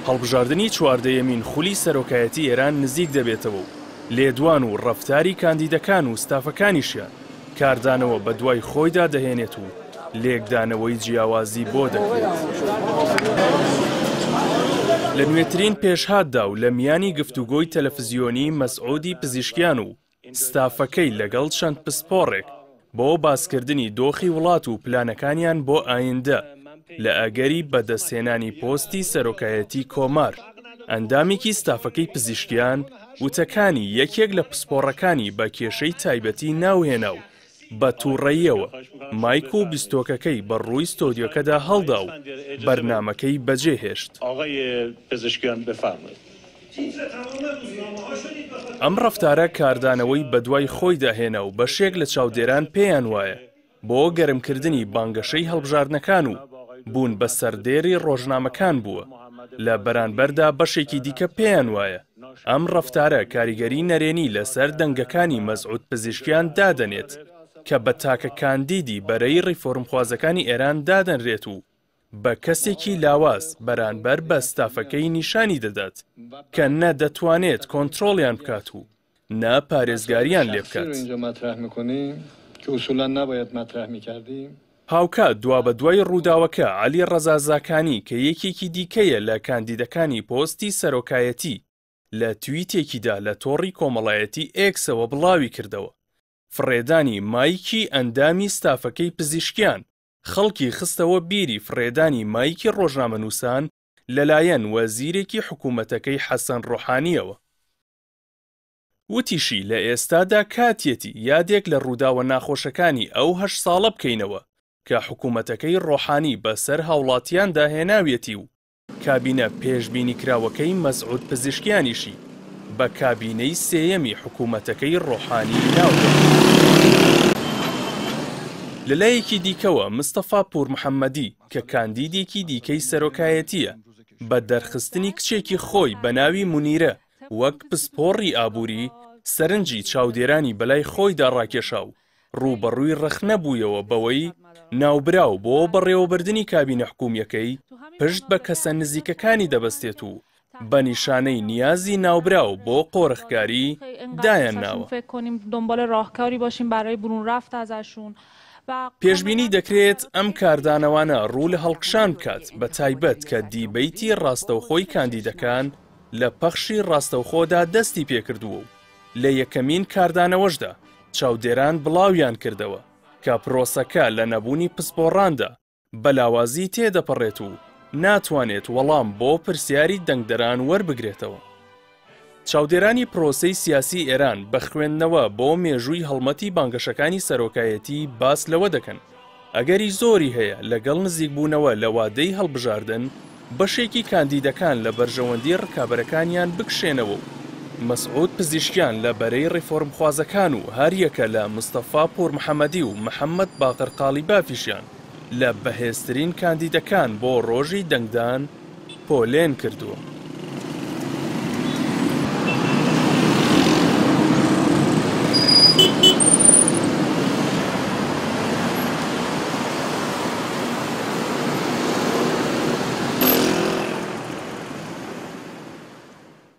هەڵبژاردنی چواردەیەمین خولی سەرۆکایەتی ئێران نزیک دەبێتەوە و لێدوان و ڕەفتاری کاندیدەکان و ستافەکانیشیان کاردانەوە بەدوای خۆیدا دەهێنێت و لێکدانەوەی جیاوازی بۆ دەکرێت. لە نوێترین پێشهاتدا و لە میانی گفتوگۆی تەلەفزیۆنی مەسعودی پزیشکیان و ستافەکەی لەگەڵ چەند پسپۆڕێک بۆ باسکردنی دۆخی وڵات و پلانەکانیان بۆ ئایندە لە ئەگەری بەدەستهێنانی پۆستی سەرۆکایەتی کۆمار، ئەندامێکی ستافەکەی پزیشکیان وتەکانی یەکێک لە پسپۆڕەکانی بە کێشەی تایبەتی ناوهێنا و بە تووڕەییەوە مایک و بیستۆکەکەی بە ڕووی ستۆدیۆکەدا هەڵدا و بەرنامەکەی بەجێهێشت. ئەم ڕەفتارە کاردانەوەی بەدوای خۆیدا هێنا و بەشێک لە چاودێران پێیان وایە بۆ گەرمکردنی بانگەشەی هەڵبژاردنەکان و بوون بە سەردێری ڕۆژنامەکان بووە، لە بەرانبەردا بەشێکی دیکە پێیان وایە ئەم ڕەفتارە کاریگەری نەرێنی لەسەر دەنگەکانی مەسعود پزیشکیان دادەنێت کە بە تاکە کاندیدی بەرەی ڕیفۆرمخوازەکانی ئێران دادەنرێت و بە کەسێکی لاواز بەرانبەر بە ستافەکەی نیشانی دەدات کە نە دەتوانێت کۆنترۆڵیان بکات و نە پارێزگاریان لێ بکات. هاوکات دوابەدوای ڕووداوەکە عەلی ڕەزا زاکانی کە یەکێکی دیکەیە لە کاندیدەکانی پۆستی سەرۆکایەتی لە تویتێکیدا لە تۆڕی کۆمەڵایەتی ئێکسەوە بڵاویکردەوە فڕێدانی مایکی ئەندامی ستافەکەی پزیشکیان خەڵکی خستەوە بیری فڕێدانی مایکی ڕۆژنامەنووسان لەلایەن وەزیرێکی حکوومەتەکەی حەسەن ڕۆحانییەوە. وتیشی، لە ئێستادا کاتیەتی یادێک لە ڕووداوە ناخۆشەکانی ئەو هەشت ساڵە بکەینەوە کە حکوومەتەکەی ڕۆحانی بەسەر هاوڵاتیاندا هێناویەتی و کابینە پێشبینیکراوەکەی مەسعود پزیشکیانیشی بە کابینەی سێیەمی حکوومەتەکەی ڕۆحانی ناوبرد. لەلایەکی دیکەوە مستەفا پوورمحەممەدی کە کاندیدێکی دیکەی سەرۆکایەتییە، بە دەرخستنی کچێکی خۆی بە ناوی مونیرە وەک پسپۆڕی ئابووری، سەرنجی چاودێرانی بەلای خۆیدا ڕاکێشا و ڕووبەڕووی ڕەخنە بوویەوە بەوەی ناوبراو بۆ بەڕێوەبردنی کابینە حکوومییەکەی پشت بە کەسە نزیکەکانی دەبەستێت و بە نیشانەی نیازی ناوبراو بۆ قۆرخکاری دایانناوە. پێشبینی دەکرێت ئەم کاردانەوانە ڕوو لە هەڵکشان بکات، بەتایبەت کە دیبەیتی ڕاستەوخۆی کاندیدەکان لە پەخشی ڕاستەوخۆدا دەستی پێکردووە و لە یەکەمین کاردانەوەشدا چاودێران بڵاویان کردەوە کە پرۆسەکە لە نەبوونی پسپۆڕاندا بە لاوازی تێدەپەڕێت و ناتوانێت وەڵام بۆ پرسیاری دەنگدەران وەربگرێتەوە. چاودێرانی پرۆسەی سیاسی ئێران بە خوێندنەوە بۆ مێژووی هەڵمەتی بانگەشەکانی سەرۆکایەتی باس لەوە دەکەن ئەگەری زۆری هەیە لەگەڵ نزیکبوونەوە لە وادەی هەڵبژاردن بەشێکی کاندیدەکان لە بەرژەوەندی ڕکابەرەکانیان بکشێنەوە و مەسعود پزیشکیان لە بەرەی ڕیفۆرمخوازەکان و هەریەکە لە مستەفا پوورمحەمەدی و محەمەد باقر قاڵیبافیشیان لە بەهێزترین کاندیدەکان بۆ ڕۆژی دەنگدان پۆلێن کردووە.